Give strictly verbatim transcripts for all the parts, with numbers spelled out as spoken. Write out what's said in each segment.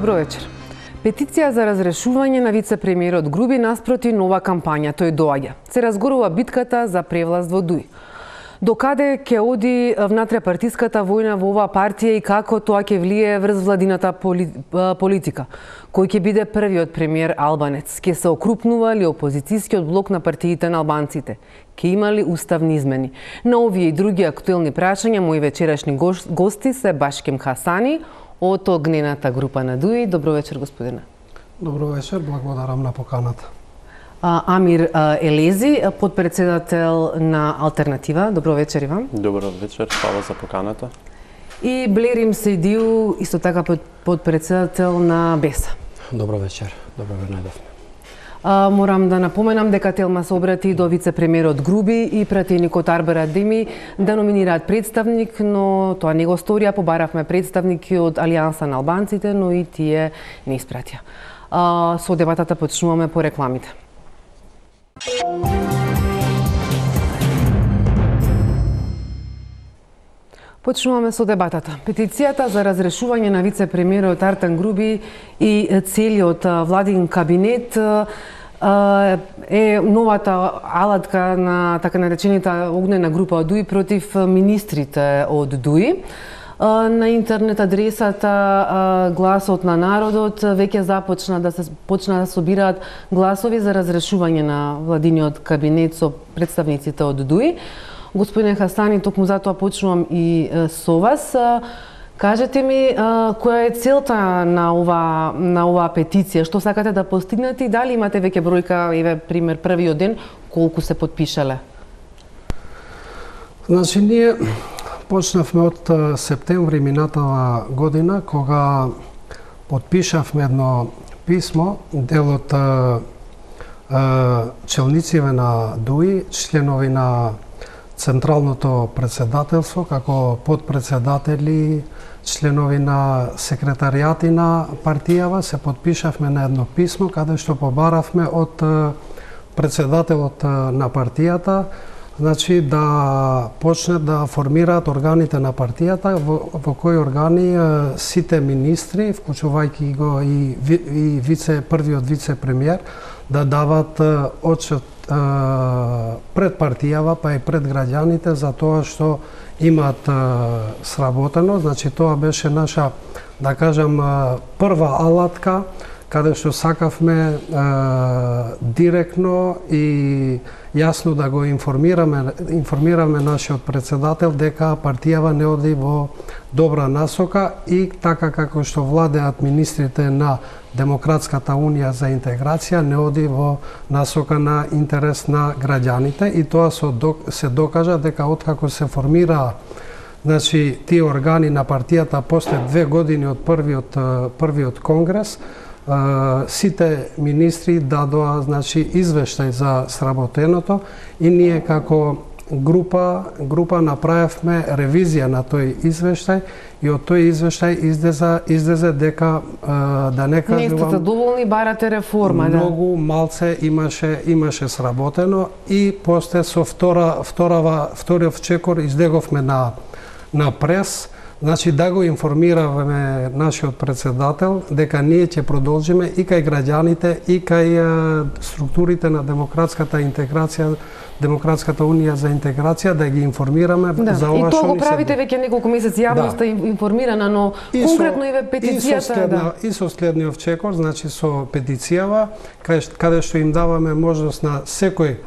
Добро вечер. Петиција за разрешување на вице-премиерот Груби наспроти нова кампања. Тој доаѓа. Се разгорува битката за превласт во Дуј. Докаде ќе оди внатре-партиската војна во оваа партија и како тоа ќе влие врз владината поли... политика? Кој ќе биде првиот премиер албанец? Ќе се окрупнува ли опозицијскиот блок на партиите на албанците? Ќе има ли уставни измени? На овие и други актуелни прашања мои вечерашни гости се Башкем Хасани од огнената група на Дуј. Добро вечер, господине. Добро вечер, благодарам на поканата. Амир Елези, подпредседател на Алтернатива. Добро вечер и вам. Добро вечер, фала за поканата. И Блерим Сейдиу, исто така подпредседател на Беса. Добро вечер, добро ве најдовме. Uh, морам да напоменам дека Телма се обрати до вице-премиерот Груби и пратеникот Арбер Адеми да номинираат представник, но тоа не го сторија. Побаравме представники од Алијанса на албанците, но и тие не испратија. Uh, со дебатата почнуваме по рекламите. Почнуваме со дебатата. Петицијата за разрешување на вице-премиерот Артан Груби и целиот владин кабинет е новата алатка на така наречените огнена група од Дуј против министрите од Дуј. На интернет адресата Гласот на народот веќе започна да се почна да собираат гласови за разрешување на владиниот кабинет со представниците од Дуј. Господине Хасани, токму затоа почнувам и со вас. Кажете ми која е целта на ова на оваа петиција, што сакате да постигнете и дали имате веќе бројка, еве пример првиот ден колку се потпишале? Значи ние почнавме од септември минатава година кога потпишавме едно писмо дел од челниците на Дуј, членови на Централното председателство, како подпредседатели, членови на секретаријати на партијава, се потпишавме на едно писмо каде што побаравме од председателот на партијата, значи да почне да формираат органите на партијата, во, во кои органи сите министри, вклучувајќи го и, и вице првиот вице-премиер, да дават отчет пред партијава, па и пред граѓаните за тоа што имаат сработено. Значи тоа беше наша, да кажам, прва алатка каде што сакавме директно и јасно да го информираме информираме нашиот председател дека партијава не оди во добра насока и така како што владеат министрите на Демократската унија за интеграција не оди во насока на интерес на граѓаните и тоа се докажа дека откако се формира значи тие органи на партијата после две години од првиот првиот конгрес, сите министри дадоа значи извештај за сработеното и ние како група група направивме ревизија на тој извештај и од тој извештај излезе излезе дека да не кажувам не сте задоволни, барате реформа, да. Многу малце имаше имаше сработено и после со втора вторава вториот чекор излеговме на на прес. Значи да го информираваме нашиот председател дека ние ќе продолжиме и кај граѓаните и кај структурите на демократската интеграција, Демократската унија за интеграција, да ги информираме да. за ова што ни се. И тоа го правите веќе неколку месеци, јавноста да. информирана, но и конкретно со, и ве петицијата, и со следна, да. И со следниот чекор, значи со петицијава, каде, каде што им даваме можност на секој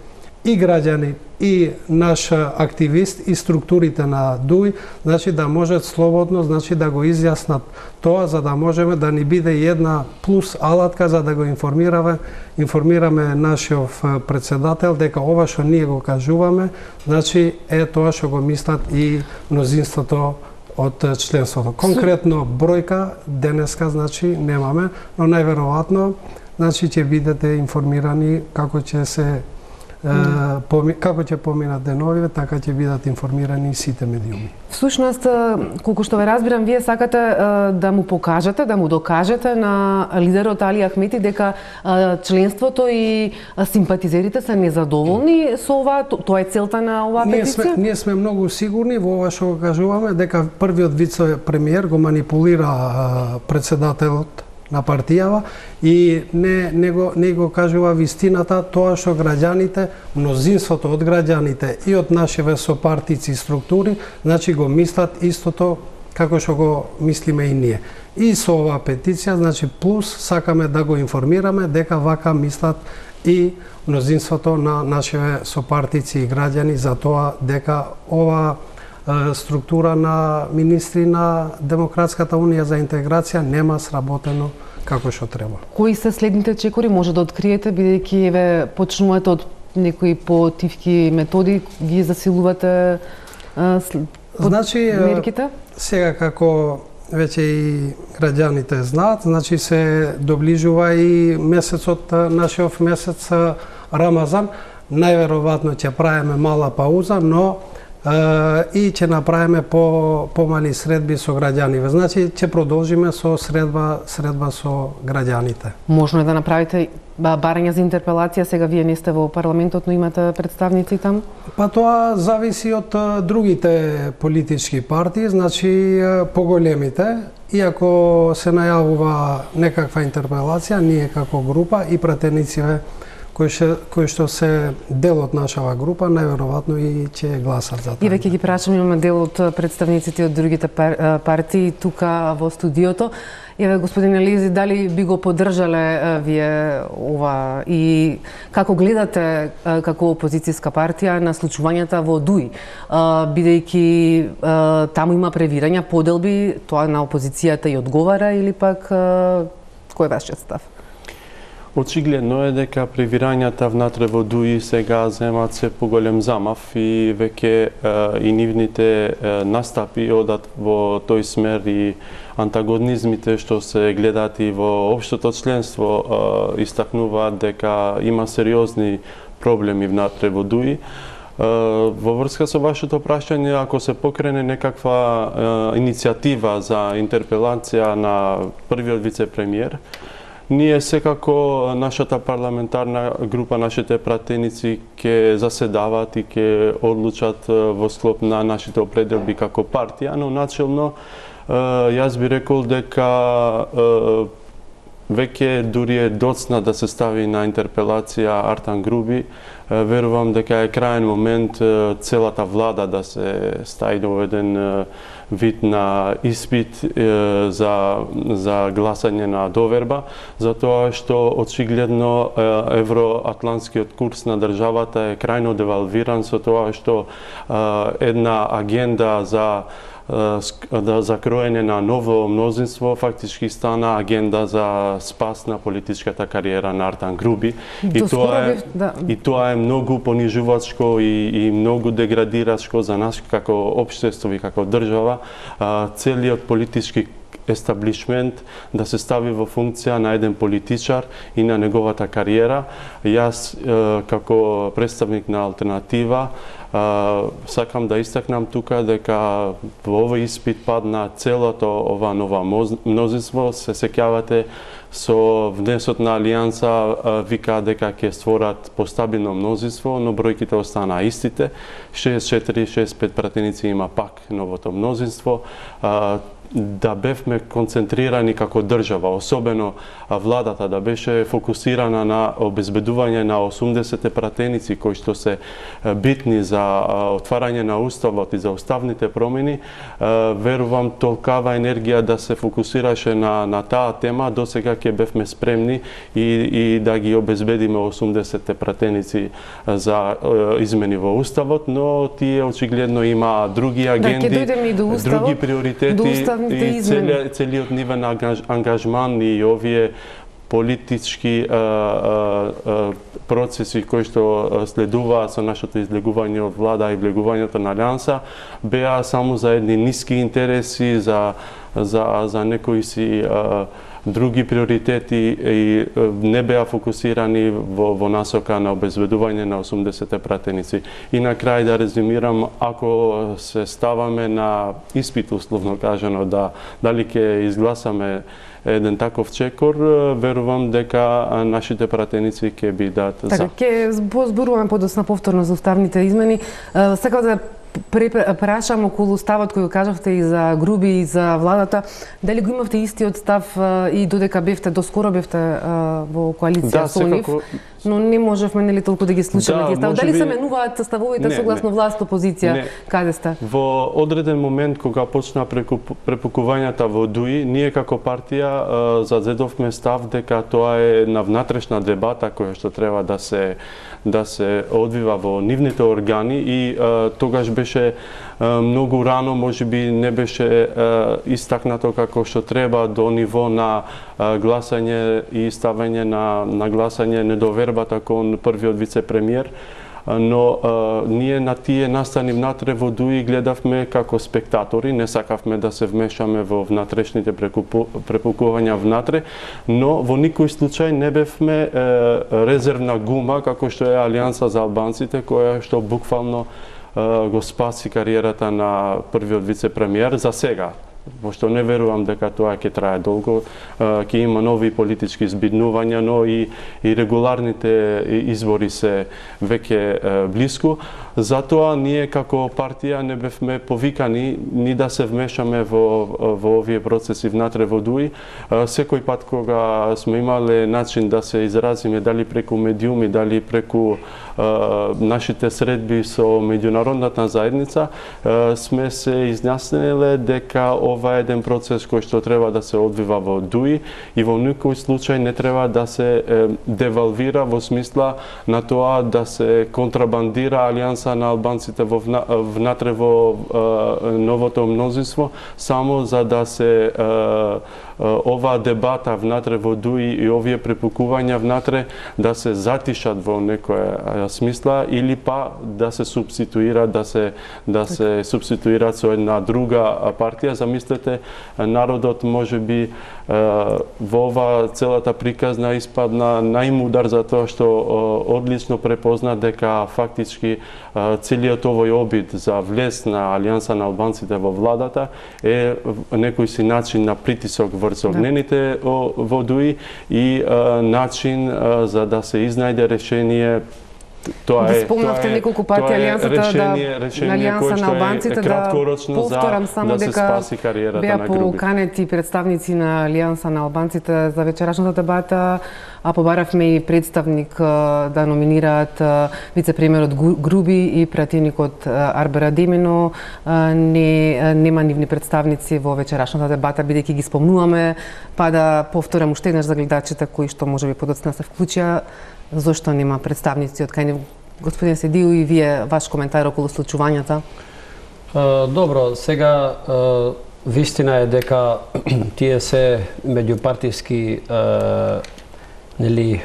и граѓани и наш активист и структурите на Дуј, значи да можат слободно, значи да го изјаснат тоа за да можеме да ни биде една плюс алатка за да го информираме информираме нашиот председател дека ова што ние го кажуваме, значи е тоа што го мислат и мнозинството од членството. Конкретно бројка денеска значи немаме, но најверојатно значи ќе бидете информирани како ќе се Uh, поми, како ќе поминат деновиве, така ќе бидат информирани сите медиуми. Всушност, колку што ве разбирам, вие сакате uh, да му покажете, да му докажете на лидерот Али Ахмети дека uh, членството и симпатизерите се незадоволни со ова, тоа е целта на оваа ние петиција? Сме, ние сме многу сигурни во ова што го кажуваме дека првиот вице-премиер го манипулира uh, председателот на партијава и не, не, го, не го кажува вистината тоа што граѓаните, мнозинството од граѓаните и од нашиве сопартици и структури, значи го мислат истото како што го мислиме и ние. И со оваа петиција, значи плюс сакаме да го информираме дека вака мислат и мнозинството на нашиве сопартици и граѓани за тоа дека ова структура на министри на Демократската унија за интеграција нема сработено како што треба. Кои се следните чекори може да откриете, бидејќи еве почнувате од некои потивки методи, ги засилувате а, значи, мерките? Сега како веќе и граѓаните знаат, значи се доближува и месецот, нашиот месец Рамазан. Најверојатно ќе правиме мала пауза, но и ќе направиме по помали средби со граѓаните. Значи ќе продолжиме со средба средба со граѓаните. Можно е да направите барања за интерпелација, сега вие не сте во парламентот, но имате представници таму? Па тоа зависи од другите политички партии, значи поголемите, иако се најавува некаква интерпелација, ние како група и пратенициве кои што, кои што се дел од нашава група, најверојатно и ќе гласат за тоа. И веќе ги прашам, имаме дел од представниците од другите пар, партии тука во студиото. Еве, господин Елизи, дали би го поддржале вие ова и како гледате како опозицијска партија на случувањата во ДУИ, бидејќи таму има превирања, поделби, тоа на опозицијата и одговара или пак кој е вашиот став? Очигледно е дека превирањата внатре во ДУИ сега земат се поголем замав и веќе и нивните настапи одат во тој смер и антагонизмите што се гледаат и во општото членство истакнуваат дека има сериозни проблеми внатре во ДУИ. Во врска со вашето прашање, ако се покрене некаква иницијатива за интерпелација на првиот вице-премиер, ние секако нашата парламентарна група, нашите пратеници ќе заседават и ќе одлучат во склоп на нашите определби како партија, но начелно јас би рекол дека веќе дури е доцна да се стави на интерпелација Артан Груби. Верувам дека е крајен момент целата влада да се стави во еден вид на испит за, за гласање на доверба, затоа што очигледно евроатлантскиот курс на државата е крајно девалвиран со тоа што една агенда за да закроење на ново мнозинство фактички стана агенда за спас на политичката кариера на Артан Груби. И тоа е, да. и тоа е многу понижувачко и, и многу деградирачко за нас како општество и како држава. Целиот политички естаблишмент да се стави во функција на еден политичар и на неговата кариера. Јас како представник на Алтернатива сакам да истакнам тука дека во овој испит падна целото ова нова мнозинство. Се сеќавате со внесот на Алијанса вика дека ќе створат постабилно мнозинство, но бројките останаа истите. шеесет и четири шеесет и пет пратеници има пак новото мнозинство. Да бевме концентрирани како држава, особено владата да беше фокусирана на обезбедување на осумдесет пратеници кои што се битни за отварање на уставот и за уставните промени, верувам толкава енергија да се фокусираше на, на таа тема, досега ќе бевме спремни и, и да ги обезбедиме осумдесет пратеници за измени во уставот, но тие очигледно има други агенди, да, уставот, други приоритети и целиот, целиот нивен ангажман и овие политички а, а, а, процеси кои што следуваат со нашето излегување од влада и влегувањето на Алијанса беа само за едни ниски интереси, за, за, за некои си а, други приоритети и не беа фокусирани во, во насока на обезбедување на осумдесет пратеници. И на крај да резюмирам, ако се ставаме на испит, условно кажано, да дали ќе изгласаме еден таков чекор, верувам дека нашите пратеници ќе бидат за. Така, ќе зборуваме подоцна повторно за уставните измени. Сакав да прашам околу ставот кој го кажавте и за Груби и за владата, дали го имавте истиот став и додека бевте, доскоро бевте во коалиција да, со нив, секако... но не можевме нели толку да ги слушаме да, тие стави. Дали би... се менуваат ставовите не, согласно не. власт опозиција? Не. Каде сте? Во одреден момент кога почна препукувањата во ДУИ, ние како партија зазедовме став дека тоа е на внатрешна дебата која што треба да се да се одвива во нивните органи и а, тогаш беше а, многу рано, можеби не беше а, истакнато како што треба до ниво на а, гласање и ставање на, на гласање недовербата кон првиот вице-премиер. Но а, ние на тие настани внатре во ДУИ гледавме како спектатори, не сакавме да се вмешаме во внатрешните препукувања внатре, но во никој случај не бевме е, резервна гума како што е Алијанса за албанците, која што буквално е, го спаси кариерата на првиот вице-премиер за сега. Пошто не верувам дека тоа ќе трае долго, ќе има нови политички збиднувања, но и, и регуларните избори се веќе блиску. Затоа ние како партија не бевме повикани ни да се вмешаме во, во овие процеси внатре во ДУИ. Секој пат кога сме имале начин да се изразиме, дали преку медиуми, дали преку нашите средби со меѓународната заедница, сме се изјасниле дека ова е еден процес кој што треба да се одвива во ДУИ и во никој случај не треба да се девалвира во смисла на тоа да се контрабандира Алијанса на албанците во внатре во новото мнозинство, само за да се оваа дебата внатре во ДУИ и овие препукувања внатре да се затишат во некоја смисла или па да се субституира, да се да се субституираат со една друга партија. Замислете, народот можеби во ова целата приказна испадна најмудар за тоа што одлично препозна дека фактички целиот овој обид за влез на Алијанса на албанците во владата е некој си начин на притисок врз огнените во ДУИ и начин за да се изнајде решение. Тоа е, спомнавте неколку пати Алијансата решение, да решение Алијанса на албанците да повторам само да се дека спаси кариерата беа на Груби. поканети представници на Алијанса на албанците за вечерашната дебата, а побаравме и представник да номинираат вице-премиерот Груби и пратеникот Арбер Адеми, но не нема нивни представници во вечерашната дебата, бидејќи ги спомнуваме, па да повторам уште еднаш за гледачите кои што можеби подоцна се вклучија. Зошто нема представници од кај нив? Господин Седију, и вие ваш коментар околу случувањата? Добро, сега вистина е дека тие се меѓупартиски нели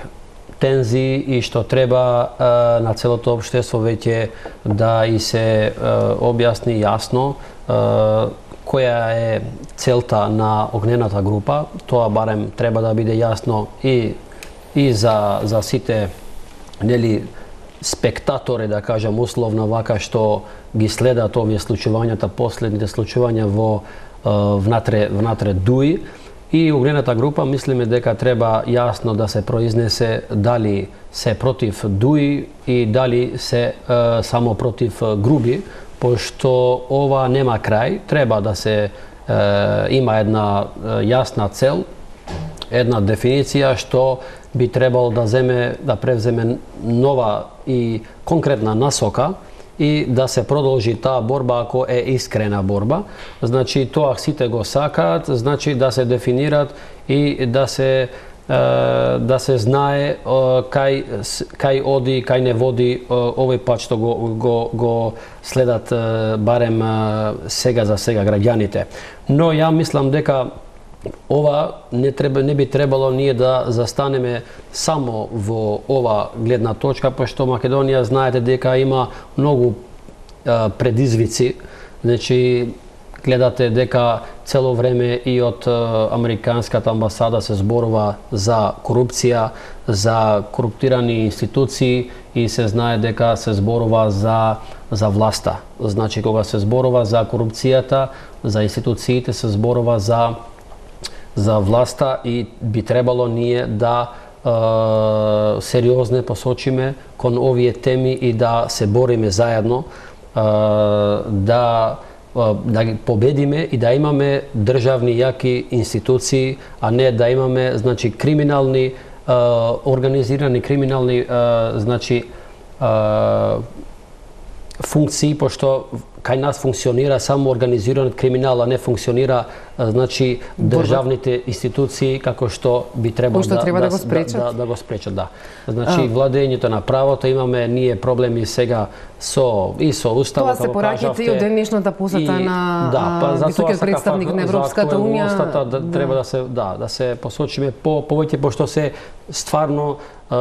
тензии и што треба на целото општество веќе да и се објасни јасно која е целта на огнената група. Тоа барем треба да биде јасно и и за за сите нели спектатори, да кажам условно вака, што ги следат овие случувањата, последните случувања во внатре внатре ДУИ и огнената група. Мислиме дека треба јасно да се произнесе дали се против ДУИ и дали се е, само против Груби, пошто ова нема крај. Треба да се е, има една е, јасна цел, една дефиниција што би требало да земе да превземе нова и конкретна насока и да се продолжи таа борба ако е искрена борба. Значи тоа сите го сакаат, значи да се дефинират и да се да се знае кај кај оди, кај не води овој пат што го го го следат барем сега за сега граѓаните. Но ја мислам дека ова не треба не би требало ние да застанеме само во ова гледна точка, пошто Македонија знаете дека има многу а, предизвици. Значи гледате дека цело време и од а, американската амбасада се зборува за корупција, за коруптирани институции и се знае дека се зборува за за власта. Значи кога се зборува за корупцијата, за институциите се зборува за за власта и би требало ние да е, сериозно посочиме кон овие теми и да се бориме заедно, да да ги победиме и да имаме државни јаки институции, а не да имаме значи криминални организирани криминални значи функции, пошто кај нас функционира само организиран криминал, а не функционира значи државните институции како што би требало да, треба да, да, го спречат. да, да го спречат, да. Значи владењето на правото, имаме ние проблеми сега со и со уставот. Тоа се пораќате и од денешната посета и, на да, па, високиот представник на Европската унија. Да, да, треба да се да, да се посочиме по повеќе, пошто се стварно е,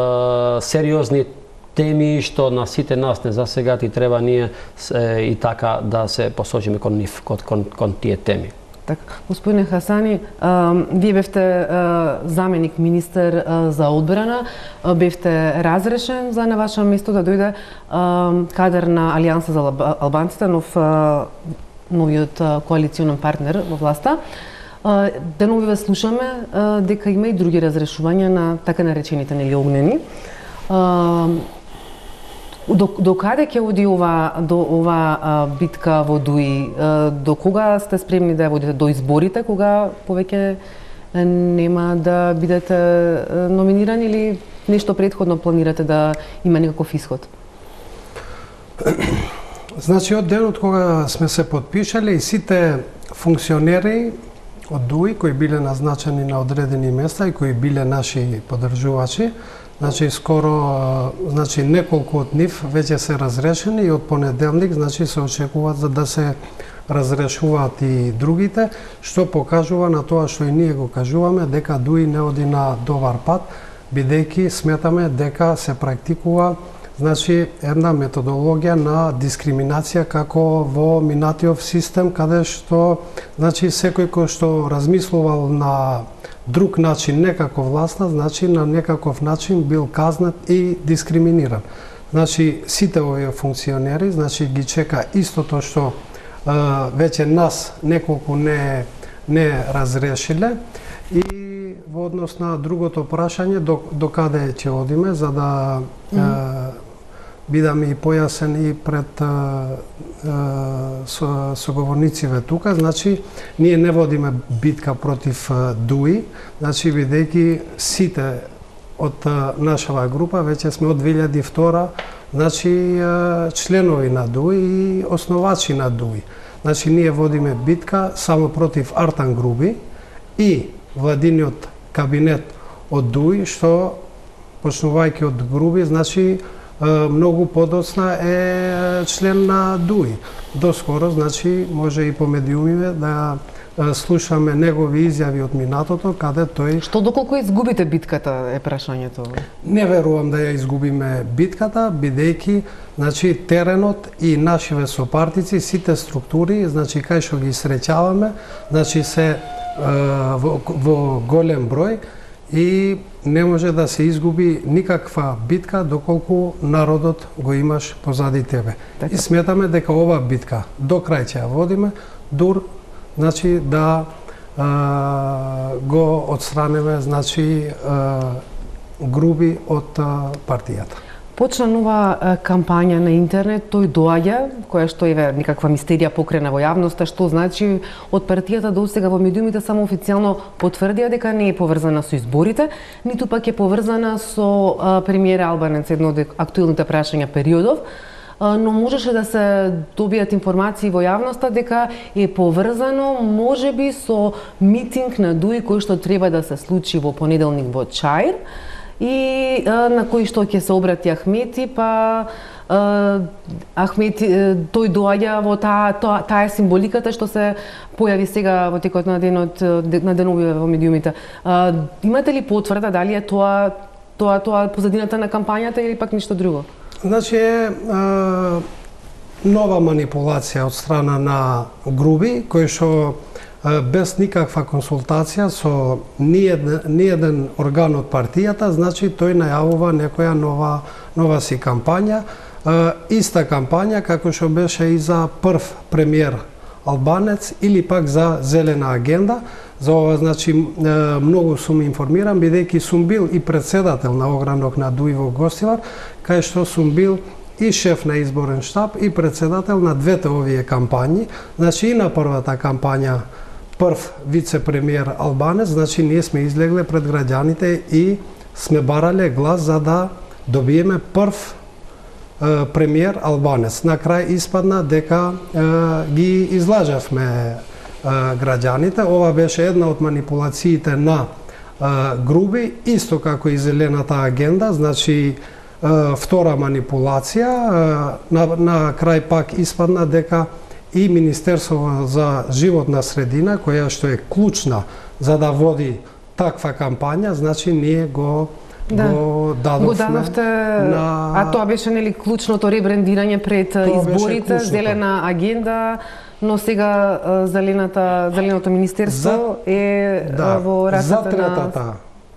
сериозни теми што на сите нас не засегат и треба ние е, и така да се посочиме кон нив, кон, кон, кон тие теми. Така, господине Хасани, а, вие бевте а, заменик министер а, за одбрана, а, бевте разрешен за на ваше место да дојде а, кадар на Алијанса за албанците, нов а, новиот а, коалиционен партнер во власта. А, денови ве слушаме а, дека има и други разрешувања на така наречените нели огнени. А, До, до каде ќе оди ова, до ова а, битка во Дуи? А, до кога сте спремни да ја водите? До изборите, кога повеќе нема да бидете номинирани, или нешто претходно планирате да има некаков исход? Значи, од денот кога сме се подпишали, сите функционери од Дуи кои биле назначени на одредени места и кои биле наши поддржувачи, значи скоро значи неколку од нив веќе се разрешени и од понеделник значи се очекуваат за да се разрешуваат и другите, што покажува на тоа што и ние го кажуваме дека Дуи не оди на добар пат, бидејќи сметаме дека се практикува значи една методологија на дискриминација како во минатиот систем, каде што значи секој кој што размислувал на друг начин, не како власта, значи на некаков начин бил казнат и дискриминиран. Значи сите овие функционери, значи ги чека истото што е, веќе нас неколку не не разрешиле, и во однос на другото прашање до, до каде ќе одиме, за да mm -hmm. е, бидам и појасен и пред е, е, со, соговорнициве тука, значи ние не водиме битка против е, Дуи, значи бидејќи сите од е, нашава група веќе сме од две илјади и втора значи е, членови на Дуи и основачи на Дуи. Значи ние водиме битка само против Артан Груби и владиниот кабинет од Дуи, што почнувајќи од Груби, значи многу подоцна е член на Дуи. Доскоро, значи, може и по медиумиве да слушаме негови изјави од минатото, каде тој... Што доколку изгубите битката е прашањето? Не верувам да ја изгубиме битката, бидејќи значи теренот и нашиве сопартици, сите структури, значи кај што ги среќаваме, значи се во, во голем број и не може да се изгуби никаква битка доколку народот го имаш позади тебе. Така. И сметаме дека ова битка до крај ќе ја водиме, дур значи да а, го отстранеме значи а, Груби од а, партијата. Почна нова кампања на интернет, тој доаѓа, која што е некаква мистерија покрена во јавноста, што значи од партијата до сега во медиумите само официјално потврдија дека не е поврзана со изборите, ниту пак е поврзана со а, премиера Албанец, едно од актуелните прашања периодов, а, но можеше да се добијат информации во јавноста дека е поврзано можеби со митинг на Дуи кој што треба да се случи во понеделник во Чаир, и а, на кој што ќе се обрати Ахмети, па а, Ахмети тој доаѓа во таа таа таа символиката што се појави сега во текот на денот на деновиве во медиумите. А, имате ли потврда дали е тоа тоа тоа позадината на кампањата или пак ништо друго? Значи е а, нова манипулација од страна на Груби, кој што без никаква консултација со ниеден, ниеден орган од партијата, значи тој најавува некоја нова, нова си кампања, иста кампања како што беше и за прв премиер Албанец или пак за зелена агенда. За ова, значи, многу сум информиран, бидејќи сум бил и председател на огранок на Дуи во Гостивар, кај што сум бил и шеф на изборен штаб и председател на двете овие кампањи. Значи и на првата кампања прв вице-премиер албанец, значи ние сме излегле пред граѓаните и сме барале глас за да добиеме прв е, премиер албанец. На крај испадна дека е, ги излажавме е, граѓаните. Ова беше една од манипулациите на е, Груби, исто како и зелената агенда, значи е, втора манипулација. Е, на, на крај пак испадна дека и Министерство за животна средина, која што е клучна за да води таква кампања, значи ние го Да. го дадовме. Го дадовте, на... а тоа беше нели клучното ребрендирање пред Тоа изборите, зелена агенда, но сега зелената зеленото министерство за, е да, во рацете за третата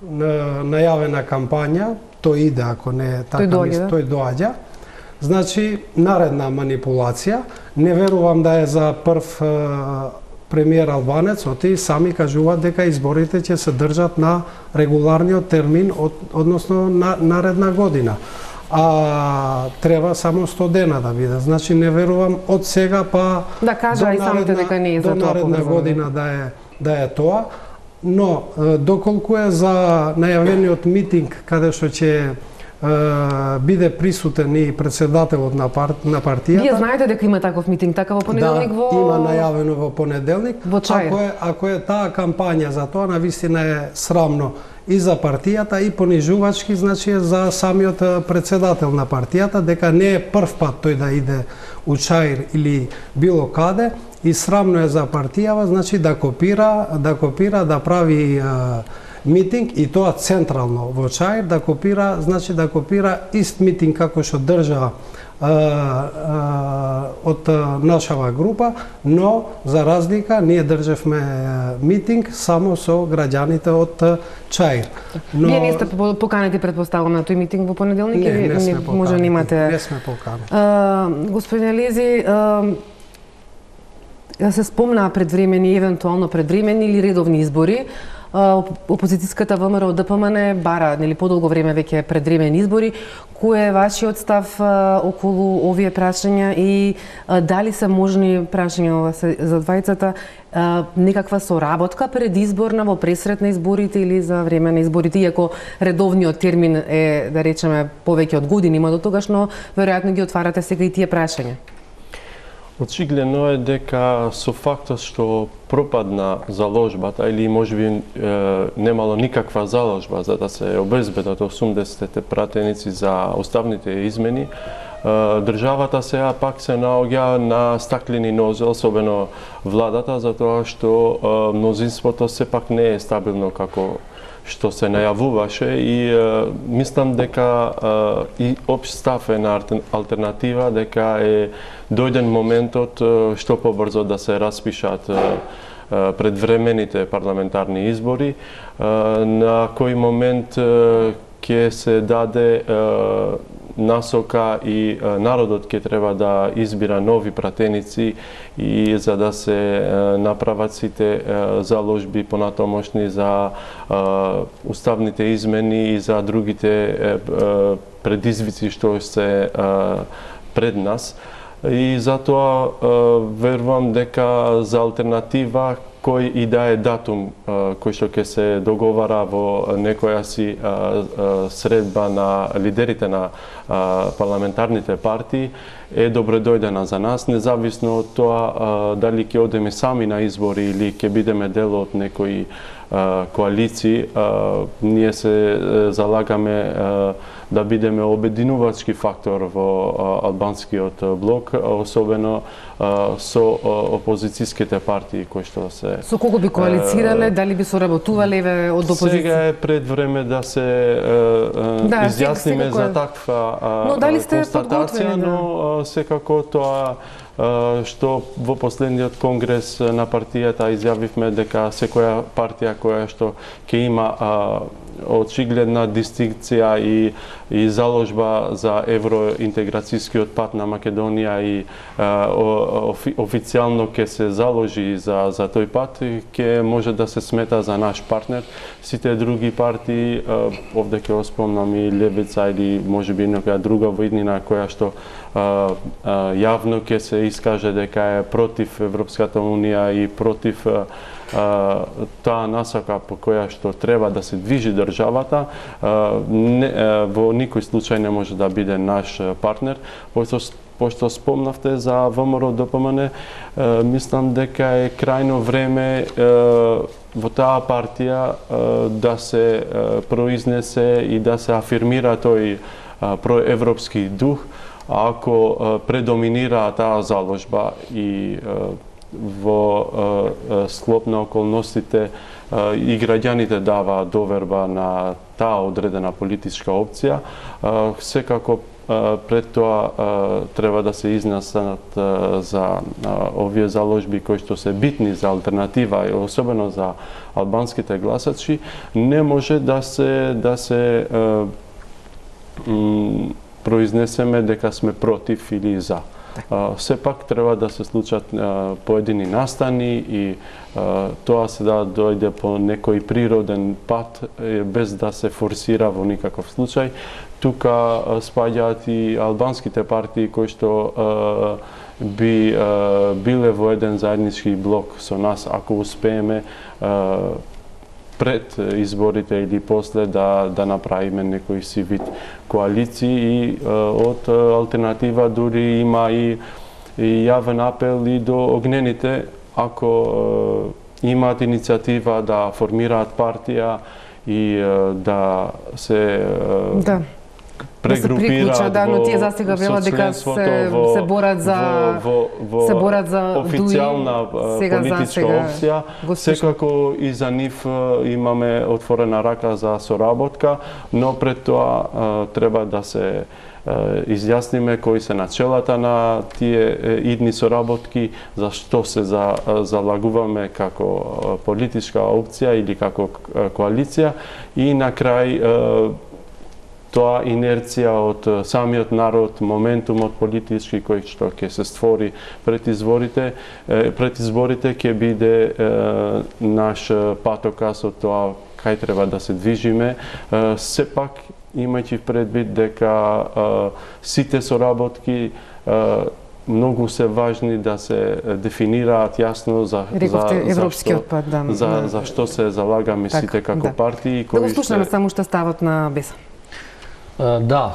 на... најавена кампања, тој иде ако не така, тој доаѓа, тој доаѓа. Значи наредна манипулација, не верувам да е за прв премиер албанец, оти сами кажуваат дека изборите ќе се држат на регуларниот термин, од, односно на наредна година. А треба само сто дена да биде. Значи не верувам од сега па да кажа и самите дека не е за до тоа наредна поврзано. година да е да е тоа. Но доколку е за најавениот митинг каде што ќе биде присутен и председателот на, пар... на партијата. Вие знаете дека има таков митинг, така во понеделник да, во... има најавено во понеделник. Во Чаир. Ако е, ако е таа кампања за тоа, навистина е срамно и за партијата и понижувачки, значи за самиот председател на партијата, дека не е прв пат тој да иде у Чаир или било каде, и срамно е за партијава, значи да копира, да копира, да прави митинг и тоа централно во Чаир, да копира, значи да копира ист митинг како што држа а, а, од нашава група, но за разлика ние држевме митинг само со граѓаните од Чаир. Но... Вие не сте поканети, предпоставувам, на тој митинг во понеделник? Не, не, не сме поканети. Може немате... Не сме поканети. А, господин Елези, а, се спомна предвремени, евентуално предвремени или редовни избори. Опозицијската ВМРО ДПМН бара нели подолго време веќе предвремени избори. Кој е вашиот став а, околу овие прашања и а, дали се можни прашања ова се за двајцата а, некаква соработка пред изборна во пресрет на изборите или за време на изборите, иако редовниот термин е, да речеме, повеќе од години има до тогаш, но веројатно ги отварате сега и тие прашања. Очигледно е дека со фактот што пропадна заложбата или можеби е, немало никаква заложба за да се обезбедат осумдесетте пратеници за уставните измени, е, државата сега пак се наоѓа на стаклени нозе, особено владата, затоа што е, мнозинството сепак не е стабилно како што се најавуваше и е, мислам дека е, и општ став е на алтернатива дека е дојден моментот е, што побрзо да се распишат е, е, предвремените парламентарни избори, е, на кој момент е, ќе се даде е, насока и е, народот ќе треба да избира нови пратеници и за да се е, направат сите е, заложби понатомошни за е, уставните измени и за другите е, е, предизвици што се е, пред нас. И затоа е, верувам дека за алтернатива кој и да е датум кој што ќе се договара во некоја си средба на лидерите на парламентарните партии е добредојдена за нас, независно од тоа дали ќе одеме сами на избори или ќе бидеме дел од некои коалиции. Ние се залагаме да бидеме обединувачки фактор во албанскиот блок, особено со опозицијските партии кои што се... Со кого би коалицирале, дали би соработувале од опозиција? Сега е пред време да се да, изјасниме за таква но, дали сте констатација, да. но секако тоа што во последниот конгрес на партијата изјавивме дека секоја партија која што ќе има очигледна дистинкција и, и заложба за евроинтеграцијскиот пат на Македонија и а, офи, официјално ќе се заложи за, за тој пат, ќе може да се смета за наш партнер. Сите други партии, а, овде ќе оспомнам и Левица или можеби некоја друга во иднина која што а, а, јавно ќе се искаже дека е против Европската унија и против а, таа насока по која што треба да се движи државата, не, во никој случај не може да биде наш партнер. Пошто, пошто спомнавте за ВМРО-ДПМН, мислам дека е крајно време во таа партија да се произнесе и да се афирмира тој проевропски дух, ако предоминира таа заложба и во склоп на околностите и граѓаните дава доверба на таа одредена политичка опција, секако пред тоа треба да се изнесат за овие заложби кои што се битни за алтернатива и особено за албанските гласачи, не може да се да се произнесеме дека сме против или за. Uh, сепак треба да се случат uh, поедини настани и uh, тоа се да дојде по некој природен пат uh, без да се форсира во никаков случај. Тука uh, спаѓаат и албанските партии кои што uh, би uh, биле во еден заеднички блок со нас ако успееме uh, пред изборите или после да да направиме некој си вид коалиции и од алтернатива дури има и, и јавен апел и до огнените ако имаат иницијатива да формираат партија и да се да. прегрупираат да, но тие застига велат дека се, се борат за во, во, се борат за официјална политичка опција. Секако и за нив имаме отворена рака за соработка, но пред тоа треба да се изјасниме кои се начелата на тие идни соработки, за што се за, залагуваме како политичка опција или како коалиција и на крај тоа инерција од самиот народ, моментумот политички кој што ќе се створи пред изборите, пред изборите ќе биде наш патоказ од тоа кај треба да се движиме. Сепак имајќи предвид дека сите соработки многу се важни да се дефинираат јасно за Рековте, за европскиот пат, да. За, за што се залагаме так, сите како да. партии кои да го слушаме само што стават на Беса. Да,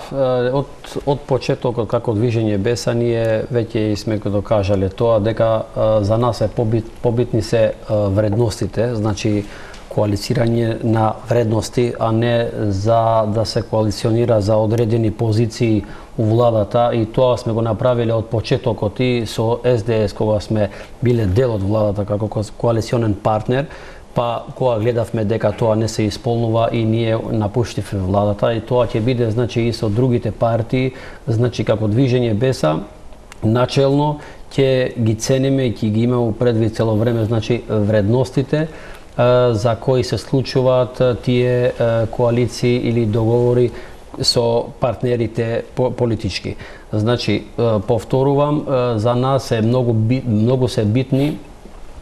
од, од почетокот како движење Беса ние веќе сме го докажале тоа дека за нас е побит, побитни се вредностите, значи коалицирање на вредности, а не за да се коалиционира за одредени позиции у владата и тоа сме го направиле од почетокот и со Ес Де Ес кога сме биле дел од владата како коалиционен партнер. Па кога гледавме дека тоа не се исполнува и ние напуштивме владата и тоа ќе биде значи и со другите партии, значи како движење Беса начелно ќе ги цениме и ќе ги имаме предвид цело време значи вредностите за кои се случуваат тие коалиции или договори со партнерите политички. Значи повторувам, за нас е многу многу се битни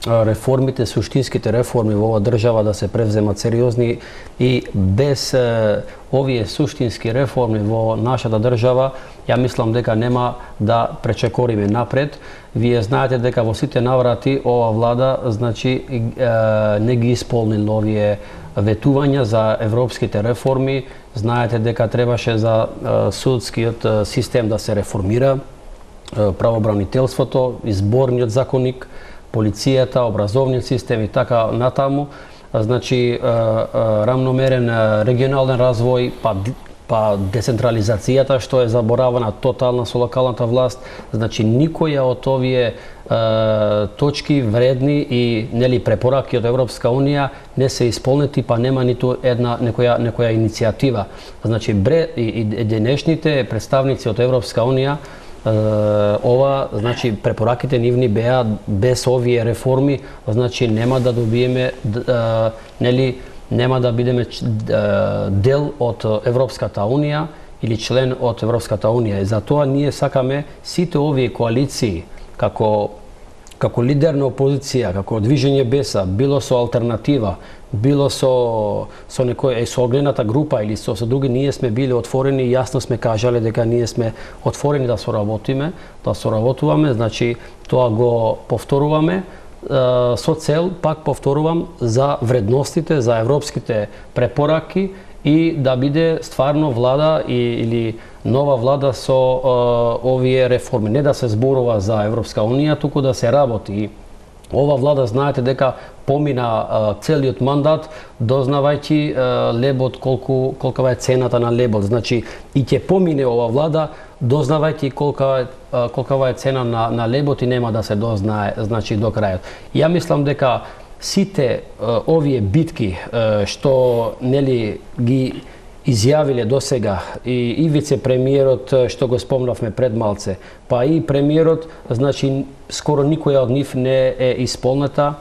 реформите, суштинските реформи во оваа држава да се превземат сериозни и без е, овие суштински реформи во нашата држава, ја мислам дека нема да пречекориме напред. Вие знаете дека во сите наврати ова влада значи е, не ги исполни овие ветувања за европските реформи. Знаете дека требаше за е, судскиот систем да се реформира, е, правобранителството, изборниот законник, полицијата, образовниот систем и така натаму, значи рамномерен регионален развој, па па децентрализацијата што е заборавана тотална со локалната власт, значи никоја од овие точки вредни и нели препораки од Европска унија не се исполнети, па нема ниту една некоја некоја иницијатива. Значи бре и, и денешните представници од Европска унија ова, значи препораките нивни беа без овие реформи, значи нема да добиеме нели нема да бидеме дел од Европската унија или член од Европската унија. И затоа ние сакаме сите овие коалиции како како лидер на опозиција, како движење Беса, било со алтернатива, било со со некој со огнената група или со, со други, ние сме били отворени и јасно сме кажале дека ние сме отворени да соработиме, да соработуваме, значи тоа го повторуваме со цел, пак повторувам, за вредностите, за европските препораки и да биде стварно влада и, или нова влада со е, овие реформи. Не да се зборува за Европска унија, туку да се работи. Ова влада, знаете дека помина е, целиот мандат, дознавајќи е, лебот, колку, колкава е цената на лебот. Значи, и ќе помине ова влада, дознавајќи колка, е, колкава е цена на, на лебот и нема да се дознае, значи, до крајот. Ја мислам дека сите е, овие битки е, што нели ги изјавиле до сега и, и вице-премиерот што го спомнавме пред малце, па и премиерот, значи скоро никоја од нив не е исполнета.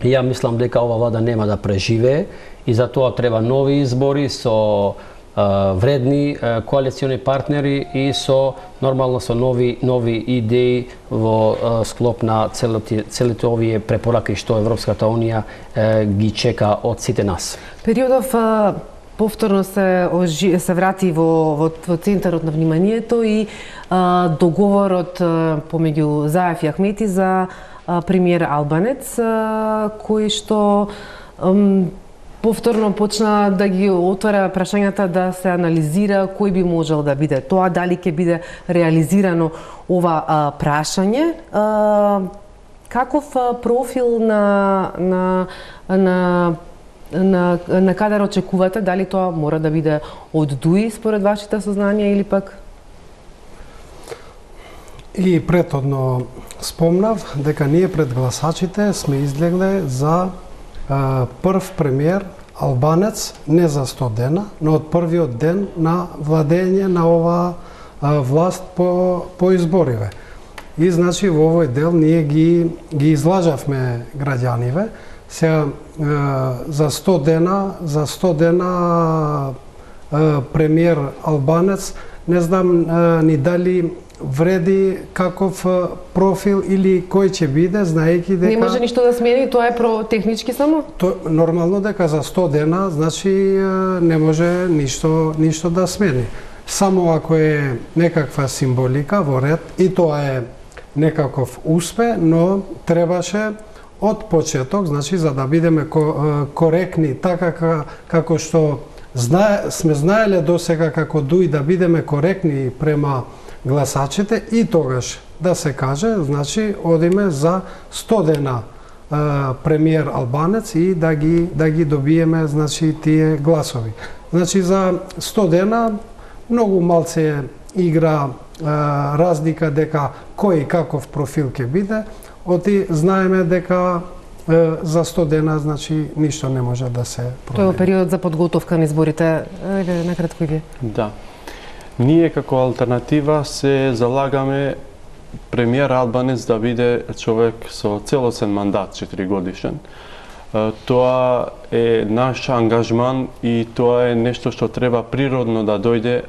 Ја мислам дека ова влада нема да преживее и затоа треба нови избори со е, вредни е, коалициони партнери и со нормално со нови нови идеи во е, склоп на целите, целите овие препораки што Европската унија е, ги чека од сите нас. Периодов е, повторно се ожи, се врати во, во, во центарот на вниманието и а, договорот а, помеѓу Заев и Ахмети за а, премиер Албанец, а, кој што ам, повторно почна да ги отвара прашањата, да се анализира кој би можел да биде тоа, дали ќе биде реализирано ова а, прашање. А, каков а, профил на на на На, на кадар очекувате, дали тоа мора да биде од ДУИ според вашите сознанија или пак? И претhodно спомнав дека ние пред гласачите сме излегле за а, прв премиер Албанец не за сто дена, но од првиот ден на владење на ова а, власт по, по избориве. И значи во овој дел ние ги, ги излажавме граѓаниве. Сега за сто дена, за сто дена премиер Албанец, не знам ни дали вреди каков профил или кој ќе биде, знаејќи дека Не може ништо да смени, тоа е про технички само? То нормално дека за сто дена, значи не може ништо ништо да смени. Само ако е некаква символика во ред, и тоа е некаков успех, но требаше од почеток, значи за да бидеме коректни, така како што знае, сме знаеле до сега како ДУИ да бидеме коректни према гласачите, и тогаш да се каже, значи одиме за сто дена е, премиер Албанец и да ги да ги добиеме, значи, тие гласови. Значи за сто дена многу малце игра е, разлика дека кој каков профил ќе биде. Оти знаеме дека е, за сто дена, значи, ништо не може да се промени. Тоа е период за подготовка на изборите. Еле, накратко и вие. Да. Ние како алтернатива се залагаме премиер Албанец да биде човек со целосен мандат, четири годишен. Тоа е наш ангажман и тоа е нешто што треба природно да дојде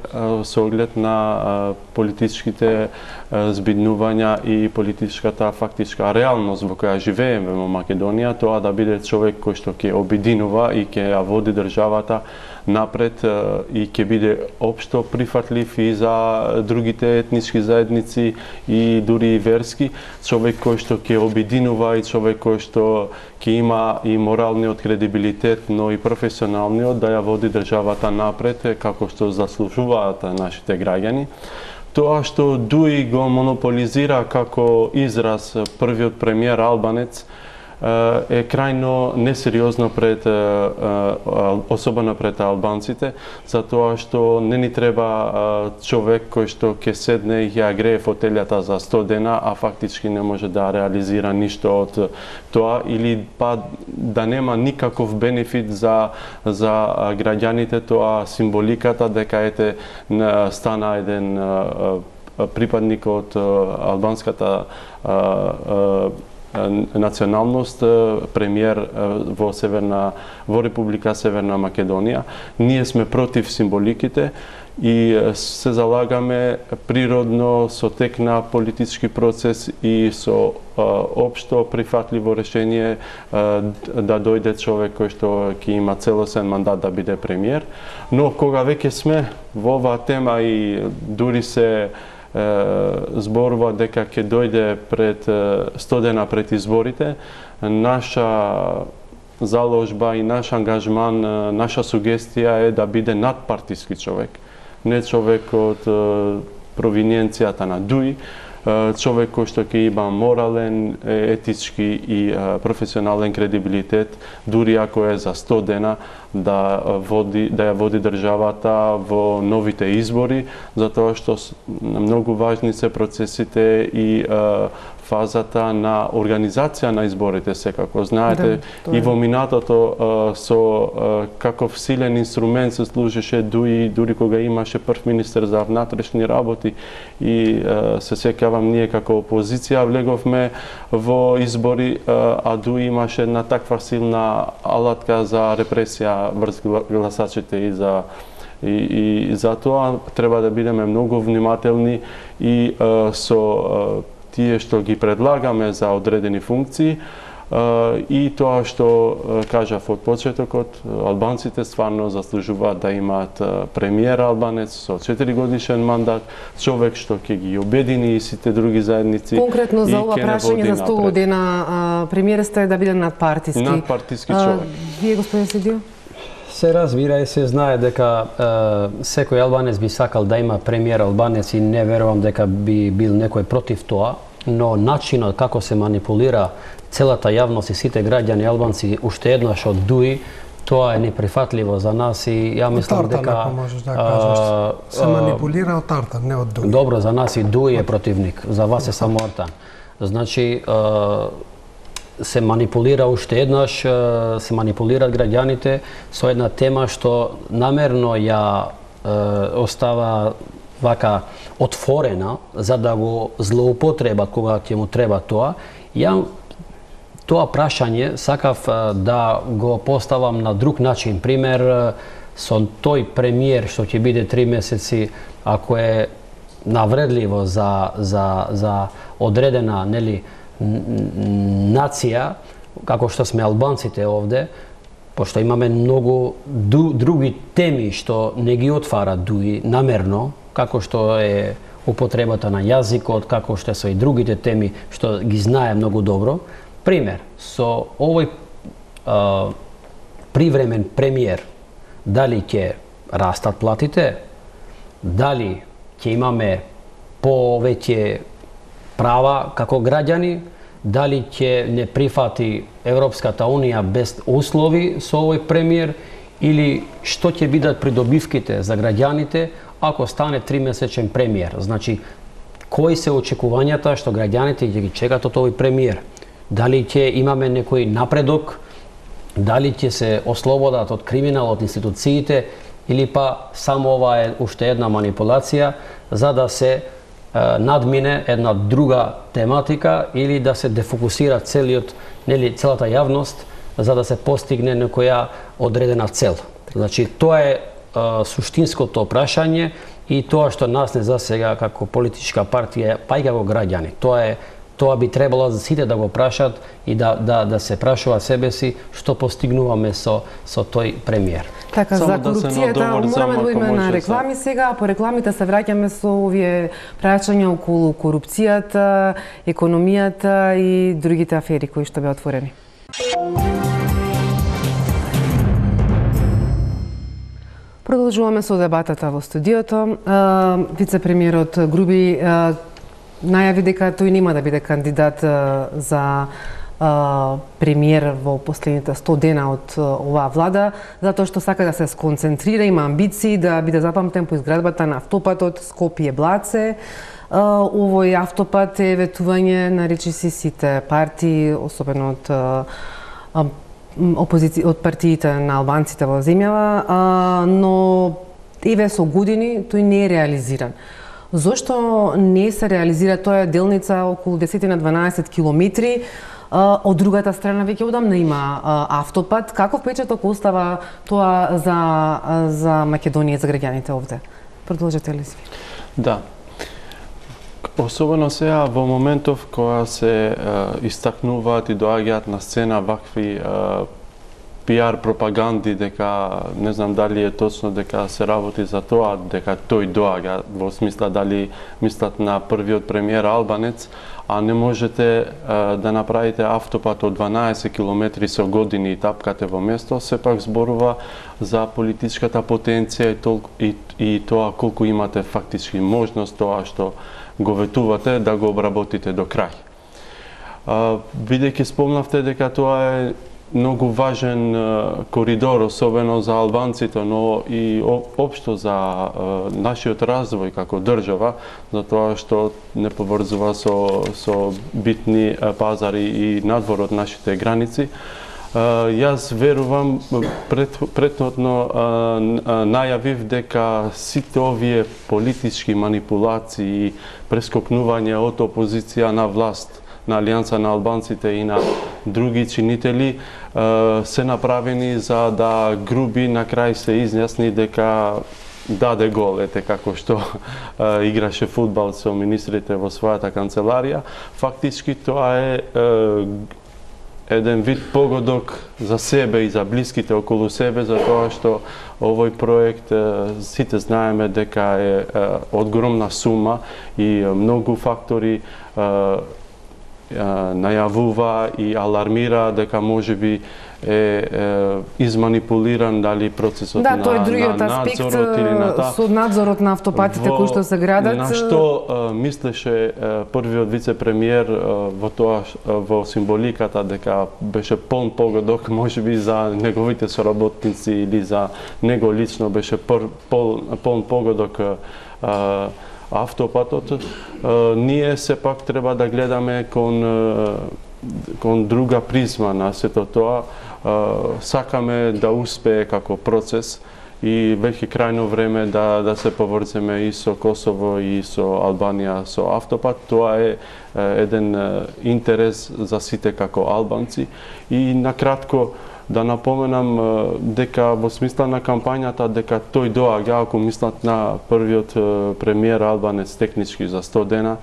со оглед на политичките збиднувања и политичката фактичка реалност во која живееме во Македонија, тоа да биде човек кој што ќе обединува и ќе ја води државата напред и ќе биде општо прифатлив и за другите етнички заедници и дури и верски, човек кој што ќе обединува и човек кој што ќе има и моралниот кредибилитет, но и професионалниот да ја води државата напред како што заслужуваат нашите граѓани. Тоа што ДУИ го монополизира како израз првиот премиер Албанец е крајно несериозно пред, особено пред албанците, затоа што не ни треба човек кој што ќе седне и ја грее фотелјата за сто дена, а фактички не може да реализира ништо од тоа, или па да нема никаков бенефит за, за граѓаните, тоа символиката дека ете стана еден припадник од албанската националност, премиер во Северна во Република Северна Македонија. Ние сме против символиките и се залагаме природно со тек на политички процес и со општо прифатливо решение да дојде човек кој што ќе има целосен мандат да биде премиер. Но кога веќе сме во оваа тема и дури се зборува дека ќе дојде пред сто дена пред изборите, наша заложба и наш ангажман, наша сугестија е да биде надпартиски човек. Не човек од провиненцијата на ДУИ, човек кој што ќе има морален, етички и професионален кредибилитет, дури ако е за сто дена да води да ја води државата во новите избори, затоа што многу важни се процесите и фазата на организација на изборите секако. Знаете, да, и во минатото со каков силен инструмент се служеше ДУИ, дури кога имаше прв министер за внатрешни работи и се сеќавам ние како опозиција влеговме во избори, а ДУИ имаше една таква силна алатка за репресија врз гласачите и за и, и за тоа треба да бидеме многу внимателни и со тие што ги предлагаме за одредени функции и тоа што кажав од почетокот, албанците стварно заслужуваат да имаат премиер албанец со четири годишен мандат, човек што ќе ги обедини и сите други заедници. Конкретно за ова прашање за сто дена премиерот е да биде надпартиски. Надпартиски човек. Вие, господин Седио? Се разбира и се знае дека е, секој албанец би сакал да има премиер албанец и не верувам дека би бил некој против тоа, но начинот како се манипулира целата јавност и сите граѓани албанци уште еднаш од ДУИ, тоа е неприфатливо за нас и ја мислам дека Тартан, ако можеш да кажеш, се манипулира од Тартан, не од ДУИ. Добро, за нас и ДУИ е противник, за вас е само Тартан. Значи се манипулира уште еднаш, се манипулираат граѓаните со една тема што намерно ја е, остава вака отворена за да го злоупотребат кога ќе му треба тоа. Ја тоа прашање сакав да го поставам на друг начин. Пример, со тој премиер што ќе биде три месеци, ако е навредливо за, за, за одредена, нели, нација, како што сме албанците овде, пошто имаме многу други теми што не ги отвара ДУИ намерно, како што е употребата на јазикот, како што се и другите теми што ги знае многу добро. Пример, со овој а, привремен премиер, дали ќе растат платите, дали ќе имаме повеќе права како граѓани, дали ќе не прифати Европската Унија без услови со овој премиер, или што ќе бидат придобивките за граѓаните ако стане тримесечен премиер. Значи, кои се очекувањата што граѓаните ќе ги чекат од овој премиер? Дали ќе имаме некој напредок, дали ќе се ослободат од криминал, од институциите, или па само ова е уште една манипулација за да се надмине една друга тематика или да се дефокусира целиот, нели, целата јавност за да се постигне некоја одредена цел. Значи, тоа е а, суштинското прашање и тоа што нас не засега како политичка партија, па и како граѓани. Тоа е Тоа би требало за сите да го прашат и да, да, да се прашува себе си што постигнуваме со, со тој премиер. Така, само за корупцијата да мораме да идеме на реклами сега, а по рекламите се враќаме со овие прашања околу корупцијата, економијата и другите афери кои што беа отворени. Продолжуваме со дебатата во студиото. Вице-премиерот Груби најави дека тој нема да биде кандидат за премиер во последните сто дена од оваа влада, затоа што сака да се сконцентрира, има амбиции да биде запамтен по изградбата на автопатот Скопје-Блаце. Овој автопат е ветување на речиси сите партии, особено од опозиција, од партиите на албанците во земјава, но еве со години тој не е реализиран. Зошто не се реализира тоа делница околу десет на дванаесет километри? Од другата страна веќе одамна има автопат. Каков впечаток остава тоа за за Македонија и за граѓаните овде? Продолжете ли си? Да. Особено сега во моментов кога се истакнуваат и доаѓаат на сцена вакви пиар пропаганди дека не знам дали е точно дека се работи за тоа, дека тој доаѓа, во смисла дали мислат на првиот премиер албанец, а не можете а, да направите автопат од дванаесет километри со години и тапкате во место, сепак зборува за политичката потенција и, толку, и, и тоа колку имате фактички можност тоа што го ветувате да го обработите до крај. А, бидејќи спомнавте дека тоа е многу важен коридор, особено за албанците, но и општо за нашиот развој како држава, затоа што не поврзува со, со битни пазари и надвор од нашите граници. Јас верувам, пред, предходно најавив дека сите овие политички манипулации и прескокнување од опозиција на власт, на Алијанса на албанците и на други чинители се направени за да Груби на крај се изјасни дека даде гол, ете како што играше фудбал со министрите во својата канцеларија. Фактички тоа е еден вид погодок за себе и за блиските околу себе, за тоа што овој проект сите знаеме дека е огромна сума и многу фактори најавува и алармира дека можеби е, е изманипулиран дали процесот да, на, тој другиот на аспект надзорот или на та... со надзорот на автопатите кои што се градат. На што а, мислеше а, првиот вице-премиер а, во тоа а, во символиката дека беше полн погодок можеби за неговите соработници или за него лично беше пол, пол, полн погодок а, автопатот, ние сепак треба да гледаме кон, кон друга призма на сето тоа. Сакаме да успее како процес и веќе крајно време да, да се поврземе и со Косово и со Албанија со автопат. Тоа е еден интерес за сите како албанци. И накратко да напоменам дека во смисла на кампањата дека тој доаѓа, ако мислат на првиот премиер албанец технички за сто дена,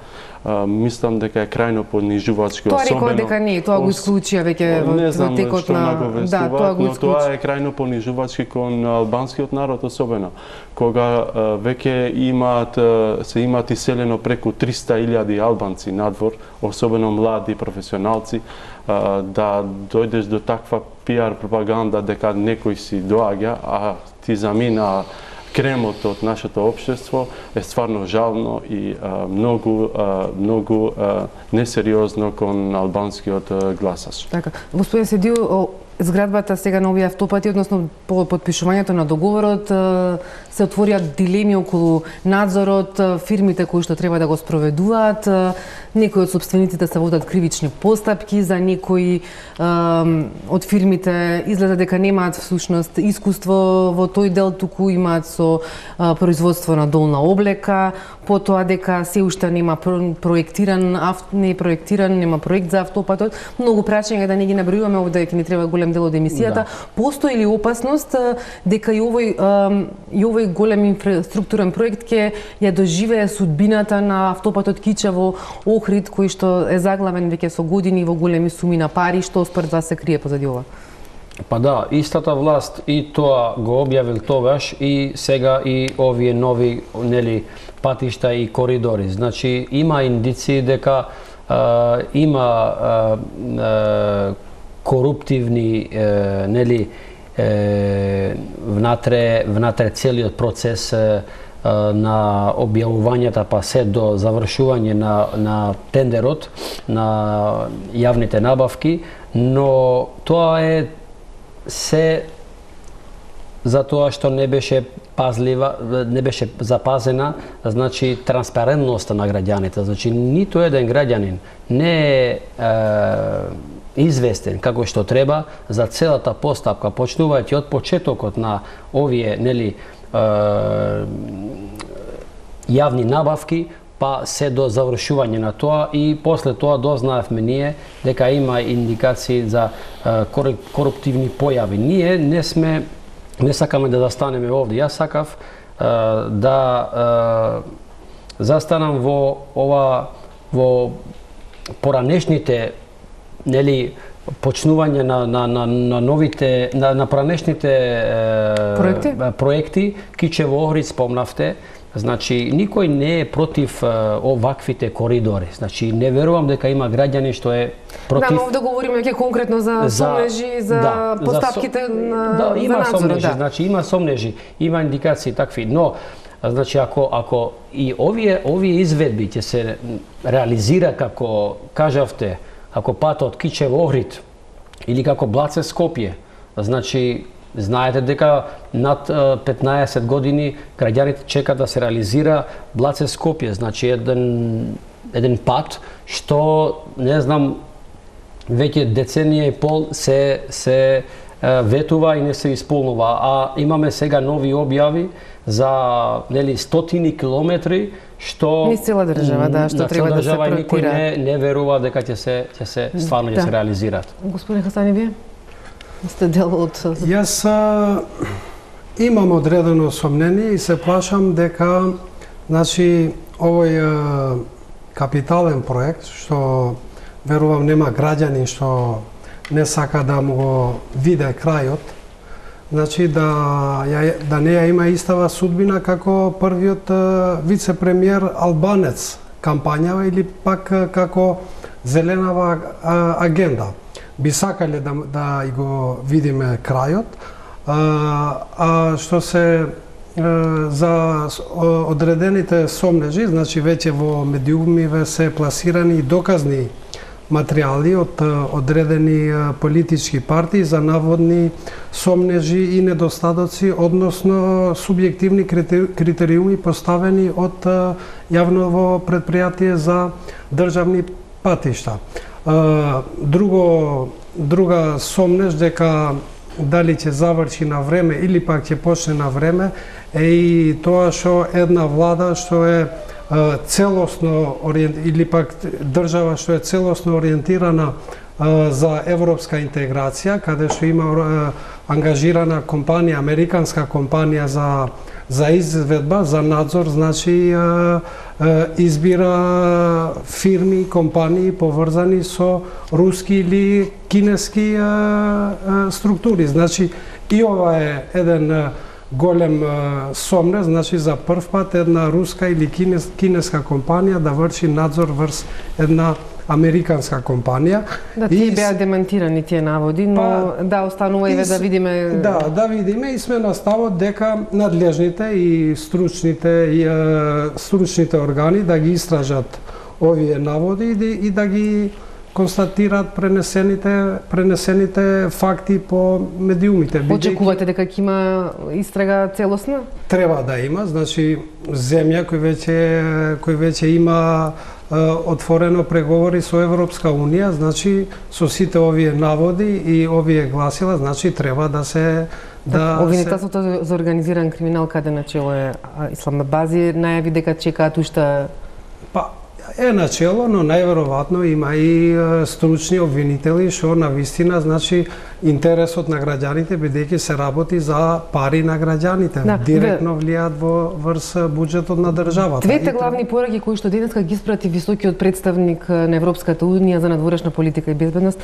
мислам дека е крајно понижувачки, тоа особено. Тоа рекол дека не, тоа го исклучија веќе во текот на да, тоа го но тоа е крајно понижувачки кон албанскиот народ особено. Кога веќе имаат се имаат иселено преку триста илјади албанци надвор, особено млади професионалци, да дојдеш до таква пиар пропаганда дека некој си доаѓа, а ти замина кремот од нашето општество е стварно жално и а, многу а, многу а, несериозно кон албанскиот гласач. Така, господин Седил, зградбата сега на овие автопати, односно по подпишувањето на договорот, се отворија дилеми околу надзорот, фирмите кои што треба да го спроведуваат, некои од собствениците се водат кривични постапки, за некои од фирмите изгледа дека немаат всушност искуство во тој дел, туку имаат со производство на долна облека, потоа дека се уште нема проектиран, не е проектиран, нема проект за автопатот. Многу прашања да не ги набројуваме овде, ќе ни треба голем дел од емисијата. Да. Постои ли опасност дека и овој и овој голем инфраструктурен проект ќе ја доживее судбината на автопатот Кичево Охрид, кој што е заглавен веќе со години во големи суми на пари, што според вас се крие позади ова? Па да, истата власт и тоа го објавил тогаш и сега и овие нови нели патишта и коридори. Значи има индиции дека а, има а, а, коруптивни е, нели е, внатре внатре целиот процес е, на објавувањата па се до завршување на на тендерот на јавните набавки, но тоа е се за тоа што не беше пазлива, не беше запазена, значи транспарентноста на граѓаните. Значи ниту еден граѓанин не е, е известен како што треба за целата постапка, почнувајќи од почетокот на овие нели јавни набавки, па се до завршување на тоа и после тоа дознаевме ние дека има индикации за коруптивни појави. Ние не сме, не сакаме да застанеме овде. Јас сакав да застанам во ова во поранешните, нели, почнување на на на на новите на на поранешните проекти, проекти Кичево Охрид спомнавте. Значи, никој не е против uh, оваквите коридори. Значи, не верувам дека има граѓани што е против... Да, но овде говориме ќе конкретно за, за сомнежи, за да, поставките за, на, да, има за надзор. Сомнежи, да, значи, има сомнежи, има индикации такви, но значи, ако, ако и овие, овие изведби ќе се реализира како, кажавте, ако патот Кичево Охрид или како Блаце Скопје, значи, знаете дека над петнаесет години граѓаните чекаат да се реализира Блаце Скопје, значи еден еден пат што не знам веќе деценија и пол се се ветува и не се исполнува, а имаме сега нови објави за нели стотини километри што низ цела држава, да, што да, треба да се проектира. Никој не не верува дека ќе се ќе се стварно ќе да. се реализираат. Господин Хасани, вие сте дел од... Јас а, имам одредено сомнение и се плашам дека, значи, овој а, капитален проект, што верувам нема граѓани што не сака да му го виде крајот, значи да, ја, да не ја има истава судбина како првиот а, вице-премиер албанец кампањава или пак а, како зеленава а, агенда. Би сакале да, да и го видиме крајот, а, а што се а, за одредените сомнежи, значи веќе во медиумиве се пласирани доказни материјали од одредени политички партии за наводни сомнежи и недостатоци, односно субјективни критериуми поставени од јавново предпријатие за државни патишта. Друго, друга сомнеж дека дали ќе заврши на време или пак ќе почне на време е и тоа што една влада што е целосно или пак држава што е целосно ориентирана за европска интеграција, каде што има ангажирана компанија, американска компанија за за изведба, за надзор, значи избира фирми, компании поврзани со руски или кинески структури. Значи и ова е еден голем сомнеж, значи за прв пат една руска или кинес, кинеска компанија да врши надзор врз една американска компанија. Да, тие беа демантирани тие наводи, но па, да, останува и да видиме... Да, да видиме и сме на ставот дека надлежните и стручните и е, стручните органи да ги истражат овие наводи и да, и да ги констатираат пренесените пренесените факти по медиумите. Очекувате дека ќе има истрага целосна? Треба да има, значи земја кој веќе кој веќе има отворено преговори со Европска унија, значи со сите овие наводи и овие гласила, значи треба да се да Организацијата се... за организиран криминал, каде начело е Исламабази, најави дека чекаат уште... Па е начело, но најверојатно има и стручни обвинители што на вистина, значи, интересот на граѓаните, бидејќи се работи за пари на граѓаните, да, директно влијаат во врз буџетот на државата. Двете главни пораки кои што денеска ги испрати високиот представник на Европската унија за надворешна политика и безбедност,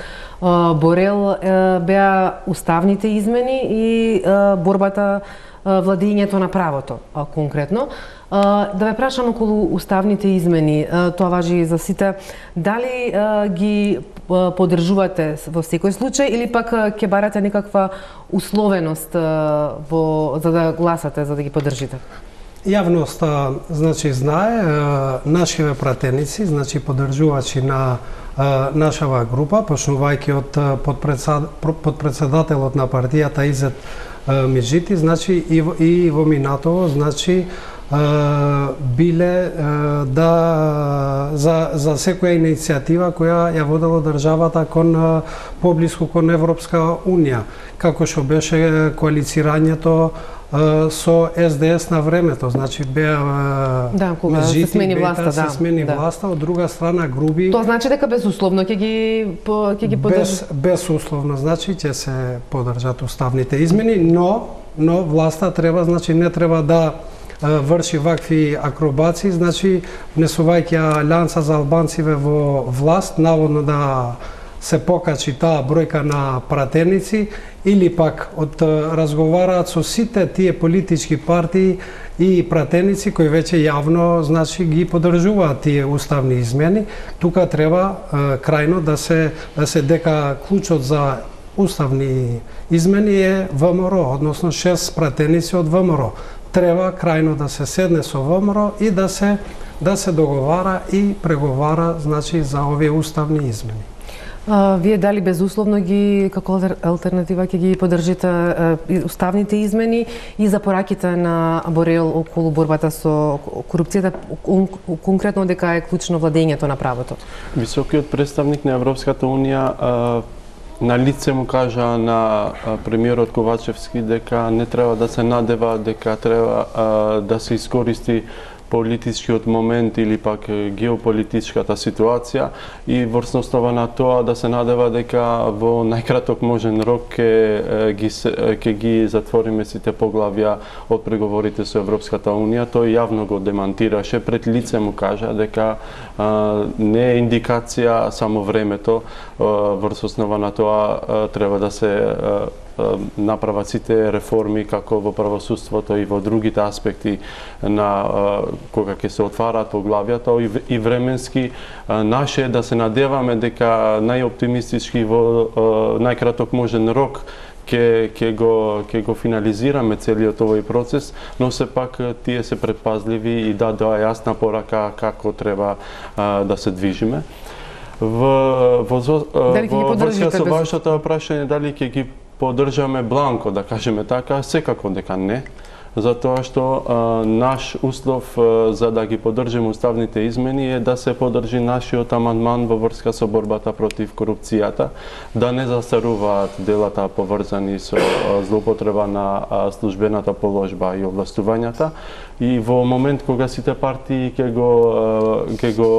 Борел, беа уставните измени и борбата владењето на правото, конкретно. Да ве прашам околу уставните измени, тоа важи и за сите, дали ги поддржувате во секој случај или пак ќе барате некаква условеност во, за да гласате, за да ги поддржите? Јавноста, значи, знае, нашиве пратеници, значи поддржувачи на нашава група, почнувајќи од подпредседателот на партијата Изет Миджити, значи и во, и во минатово, значи биле да за за секоја иницијатива која ја водела државата кон поблиску кон Европска унија, како што беше коалицирањето со С Д С на времето, значи беа да, кога се смени власта, да. Се смени да. власта, од друга страна груби. Тоа значи дека безусловно ќе ги ќе ги поддржи. Без безусловно значи ќе се поддржат уставните измени, но но власта треба, значи не треба да врши вакви акробации, значи внесувајќи Алијанса за албанциве во власт, наводно да се покачи таа бројка на пратеници, или пак од разговараат со сите тие политички партии и пратеници кои веќе јавно, значи, ги поддржуваат тие уставни измени. Тука треба крајно да се да се дека клучот за уставни измени е В М Р, односно шест пратеници од В М Р. Треба крајно да се седне со В М Р и да се да се договара и преговара, значи, за овие уставни измени. А, вие дали безусловно ги како алтернатива ќе ги поддржите уставните измени и за пораките на Борел околу борбата со корупцијата, конкретно дека е клучно владењето на правото? Високиот представник на Европската унија на лице му кажа на премиерот Ковачевски дека не треба да се надева, дека треба да се искористи политичкиот момент или пак геополитичката ситуација и врз основа на тоа да се надева дека во најкраток можен рок ќе ги ќе ги затвориме сите поглавја од преговорите со Европската унија. Тој јавно го демантираше, пред лице му кажа дека а, не е индикација само времето, а, врз основа на тоа а, треба да се а, направат сите реформи како во правосудството и во другите аспекти на кога ќе се отвараат поглавјата и временски. Наше е да се надеваме дека најоптимистички во најкраток можен рок ќе ќе го ќе го финализираме целиот овој процес, но сепак тие се предпазливи и дадоа јасна порака како треба да се движиме. Во во во врска со вашето прашање дали ќе ги поддржаме бланко, да кажеме така, секако дека не, затоа што а, наш услов а, за да ги поддржиме уставните измени е да се поддржи нашиот амандман во врска со борбата против корупцијата, да не застаруваат делата поврзани со а, злоупотреба на а, службената положба и овластувањата, и во момент кога сите партии ќе го ќе го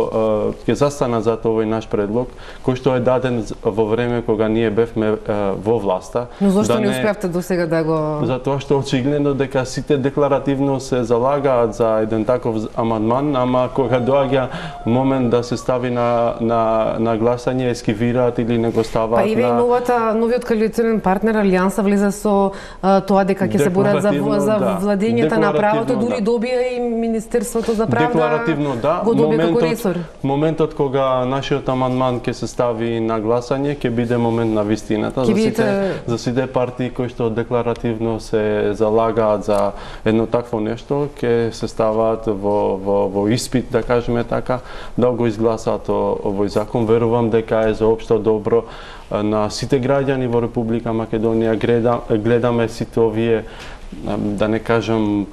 ќе застанат за овој наш предлог, кој што е даден во време кога ние бевме во власта. Но зошто да не успеавте досега да го... Затоа што очигледно дека сите декларативно се залагаат за еден таков амандман, ама кога доаѓа момент да се стави на на на гласање, ескивираат или не го ставаат. Па и ве на... новата новиот коалиционен партнер Алијанса влезе со а, тоа дека ќе се борат за за да. владењето на правото, дури да. добија и Министерството за правда. Декларативно да, го добија како моментот, ресор. моментот кога нашиот амандман ќе се стави на гласање, ќе биде момент на вистината за сите за сите партии кои што декларативно се залагаат за едно такво нешто, ќе се ставаат во во во испит, да кажеме така, да го изгласаат овој закон. Верувам дека е за општо добро на сите граѓани во Република Македонија. Гледам, гледаме сите овие, да не кажам,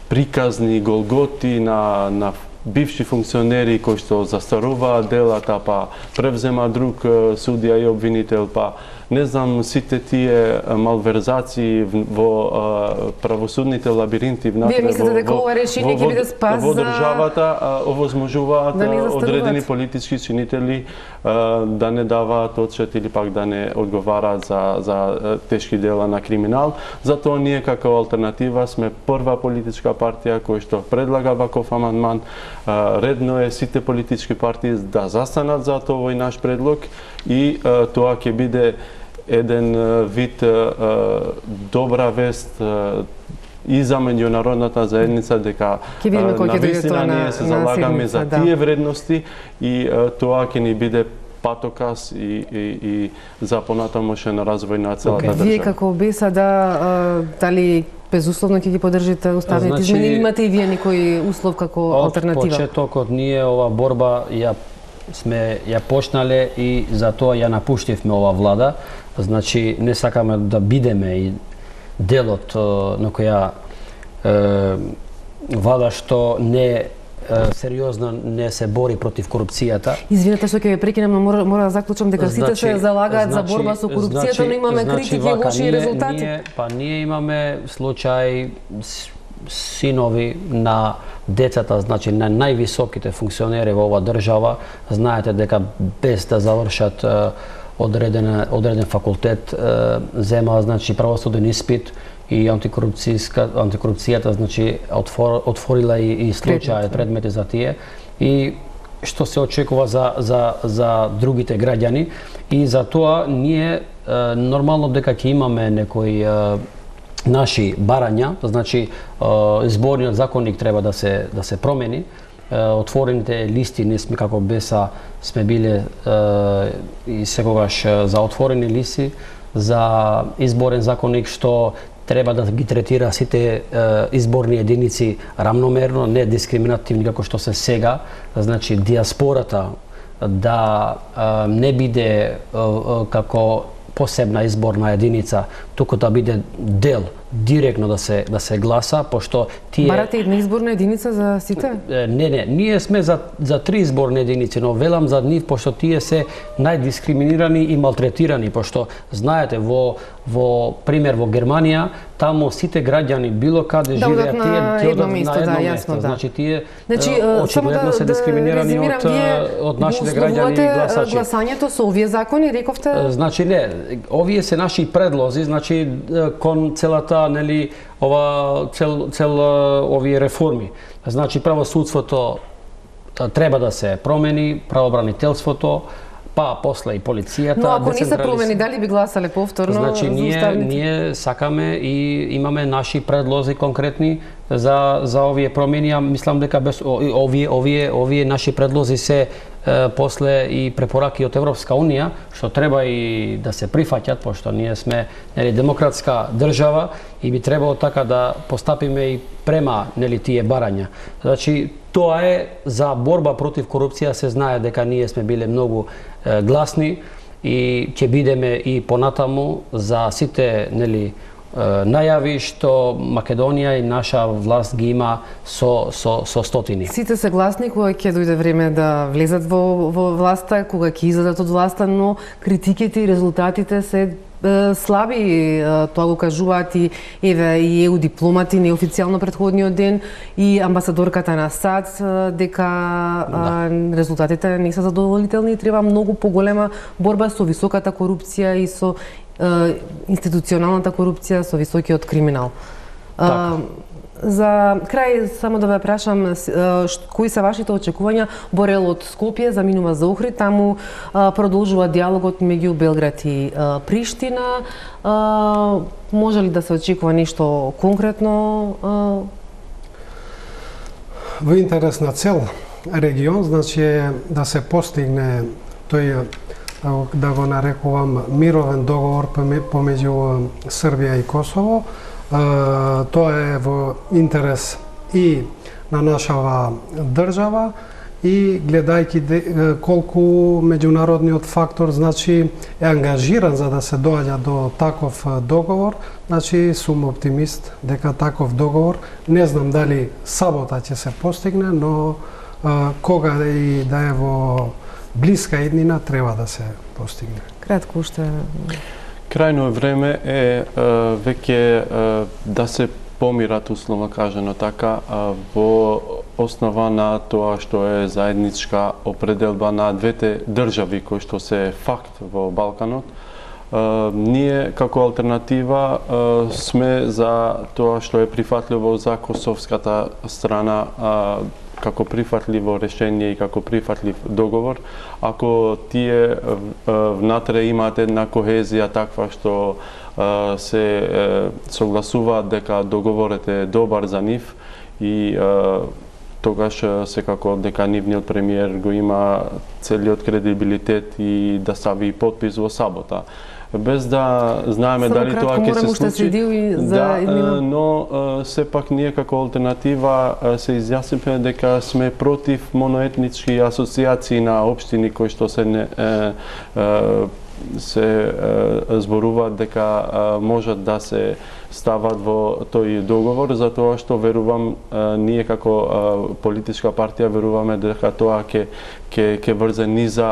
приказни голготи на на бивши функционери кои што застаруваат делата, па превзема друг судија и обвинител, па не знам, сите тие малверзации во правосудните лабиринти внатре. Вие мислите дека ова решение ќе биде спас во државата, овозможуваат да одредени политички чинители да не даваат отчет или пак да не одговараат за за тешки дела на криминал. Затоа ние како алтернатива сме прва политичка партија која што предлага ваков амандман. Редно е сите политички партии да застанат за овој наш предлог и тоа ќе биде еден вид добра вест и за меѓународната заедница дека навистина ние се залагаме за тие вредности и тоа ќе ни биде патокас и, и, и за понатамошен развој на целата држава. Вие како БЕСА да дали безусловно ќе ги поддржите уставните значи, измени, имате и вие некој услов како алтернатива? Од почетокот ние ова борба ја сме ја почнале и затоа ја напуштивме ова влада. Значи не сакаме да бидеме и делот на која е, влада што не сериозно не се бори против корупцијата. Извинете што ќе ве прекинам, но мора, мора да заклучам дека сите значи, се залагаат значи, за борба со корупцијата, значи, но имаме значи, критики и вака, лоши ние, резултати. Ние, па ние имаме случај синови на децата, значи на највисоките функционери во оваа држава, знаете дека без да завршат одреден одреден факултет зема значи правосуден испит и антикорупцијска антикорупцијата значи отвор, отворила и, и случаи предмети за тие и што се очекува за за за другите граѓани и за тоа ние нормално дека ќе имаме некои наши барања, значи изборниот законник треба да се да се промени. Отворените листи не сме како БЕСА сме биле и секогаш за отворени листи за изборен законник што треба да ги третира сите изборни единици рамномерно, не дискриминативни како што се сега, значи диаспората да не биде како посебна изборна единица, туку да биде дел директно да се да се гласа, пошто тие Барате една изборна единица за сите? Не, не, ние сме за за три изборни единици, но велам за нив пошто тие се најдискриминирани и малтретирани, пошто знаете во во пример во Германија, таму сите граѓани било каде да живеат, тие тие одат на едно место, да, јасно, да. Значи тие Значи, очигледно да, се дискриминирани да од од нашите граѓани и гласачи. Гласањето со овие закони, рековте? Значи не, овие се наши предлози, значи кон целата нели ова цел цел овие реформи. Значи правосудството треба да се промени, правобранителството, па после и полицијата. Но ако не се промени, дали би гласале повторно? Значи ние ние сакаме и имаме наши предлози конкретни за за овие промени, а мислам дека без овие овие овие наши предлози се е, после и препораки од Европска унија, што треба и да се прифаќат, пошто ние сме нели демократска држава и би требало така да постапиме и према нели тие барања. Значи тоа е за борба против корупција, се знае дека ние сме биле многу е, гласни и ќе бидеме и понатаму за сите нели најави што Македонија и наша власт ги има со со со стотини. Сите се гласни кога ќе дојде време да влезат во во власта, кога ќе излезат од власта, но критиките и резултатите се е, слаби, тоа го кажуваат и еве и еу дипломати неофицијално претходниот ден и амбасадорката на САД дека да. резултатите не се задоволителни и треба многу поголема борба со високата корупција и со институционалната корупција, со високиот криминал. Така. За крај само да ве прашам кои се вашите очекувања? Борелот Скопје заминува за Охрид, таму продолжува диалогот меѓу Белград и Приштина. Може ли да се очекува нешто конкретно? Во интерес на цел регион, значи да се постигне тој да го нарекувам мировен договор помеѓу Србија и Косово. Тоа е во интерес и на нашава држава и гледајќи колку меѓународниот фактор значи е ангажиран за да се доаѓа до таков договор, значи сум оптимист дека таков договор, не знам дали сабота ќе се постигне, но кога и да е во блиска иднина треба да се постигне. Кратко уште. Крајно време е веќе да се помират, условно кажано така, во основа на тоа што е заедничка определба на двете држави кои што се факт во Балканот. Ние како алтернатива сме за тоа што е прифатливо за косовската страна како прифатливо решение и како прифатлив договор, ако тие внатре имаат една кохезија таква што се согласуваат дека договорот е добар за нив и тогаш секако дека нивниот премиер го има целиот кредибилитет и да стави подпис во сабота. Без да знаеме Само дали тоа ќе се случи. Да, но сепак ние како алтернатива се изјаснивме дека сме против моноетнички асоциации на општини кои што се не, е, е, се е, зборуваат дека е, можат да се стават во тој договор, затоа што верувам ние како политичка партија веруваме дека тоа ќе ќе ќе врзе низа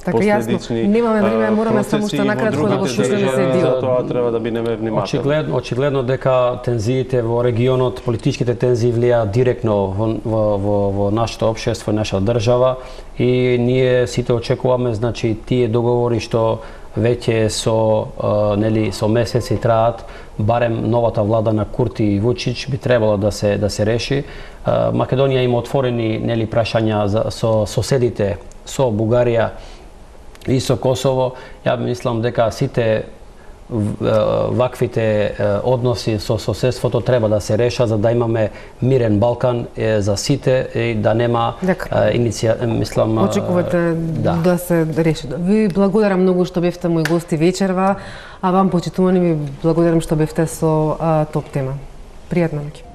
последични немаме време, мораме само што накратко да го слушнеме се дел. Затоа треба да бидеме внимателни. Очигледно, очигледно дека тензиите во регионот, политичките тензии влијаат директно во во во, во нашето општество, нашата држава и ние сите очекуваме, значи, тие договори што веќе со а, нели со месеци траат, барем новата влада на Курти и Вучич би требало да се да се реши. А, Македонија има отворени нели прашања за, со соседите, со Бугарија и со Косово. Ја мислам дека сите ваквите односи со соседството треба да се реша за да имаме мирен Балкан за сите и да нема иниција, мислам, очекувате да. да се реши. Ви благодарам многу што бевте мои гости вечерва, а вам почитувани ви благодарам што бевте со а, топ тема. Пријатна ноќ.